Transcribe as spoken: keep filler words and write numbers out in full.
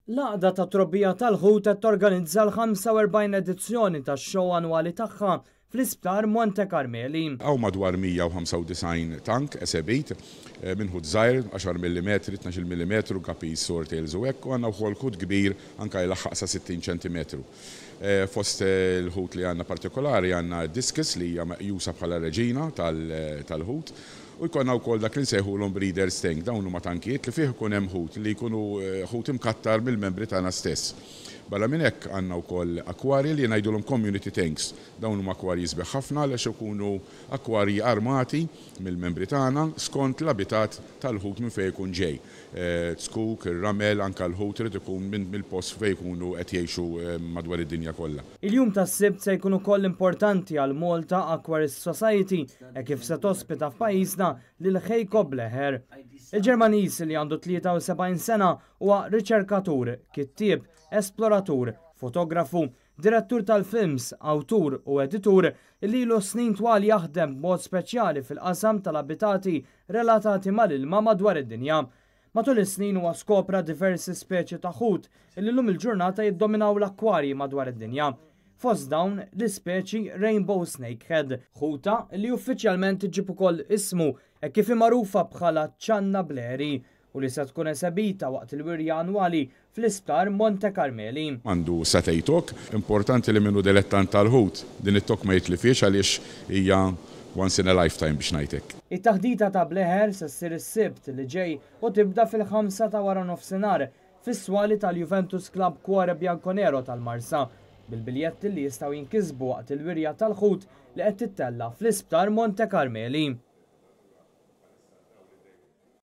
L-Għaqda ta' Trobbija tal-Ħut qed torganizza l-ħamsa u erbgħin edizzjoni tax-show annwali tagħha fl-Isptar Monte Carmeli. Hawn madwar mija u ħamsa u disgħin tank esebit, eh, minn ħut żgħir, għaxar millimetri, tnax-il millimetru, guppies, swordtails u hekk, u għandna wkoll ħut kbir anke jlaħħaq sa sittin ċentimetru. Eh, fost il-ħut li għandna partikolari għandna discus li hija meqjusa bħala reġina tal-, tal-ħut, u jkollna wkoll dak li nsejħulhom breeders tank, dawn huma tankijiet li fih ikun hemm ħut li jkunu, eh, ħut imkattar mill-membri tagħna stess. Barra minn hekk għandna wkoll akwarji li ngħidulhom community tanks. Dawn huma akwarji sbieħ ħafna għaliex ikunu akwarji armati mill-membri tagħna skont l-abitat tal-ħut minn fejn ikun ġej. Eh, Zkuk, ir-ramel, anke l-ħut irid ikun minn mill-post fejn ikunu qed jgħixu, eh, madwar id-dinja kollha. Il-jum tas-Sibt se jkun ukoll importanti għal Malta Aquarist Society e kif se tospita f'pajjiżna lil Heiko Bleher. Il-Ġermaniż li għandu tlieta u sebgħin sena huwa riċerkatur, kittieb, esploratur, fotografu, direttur tal-films, awtur u editur li ilu snin twal jaħdem b'mod speċjali fil-qasam tal-abitati relatati mal-ilma madwar id-dinja. Matul is-snin huwa skopra diversi speċi ta' ħut li llum il-ġurnata jiddominaw l-akwarji madwar id-dinja. Fost dawn l-ispeċi Rainbow Snakehead, ħuta li uffiċjalment iġib ukoll ismu e kif magħrufa bħala Channa Bleheri u li se tkun esebita waqt il-wirja annwali fl-Isptar Monte Carmeli. Għandu satej tok, importanti li minnu dilettant tal-ħut, din it-tok ma jitlifiex għaliex hija once in a lifetime biex ngħidlek. It-taħdita ta' Bleher se ssir is-Sibt li ġej u tibda fil-ħamsa ta' wara nofsinhar fis-swali tal-Juventus Club Cuore Bianconero tal-Marsa, bil-biljetti li jistgħu jinkisbu waqt il-wirja tal-ħut li qed tittella fl-Isptar Monte Carmeli.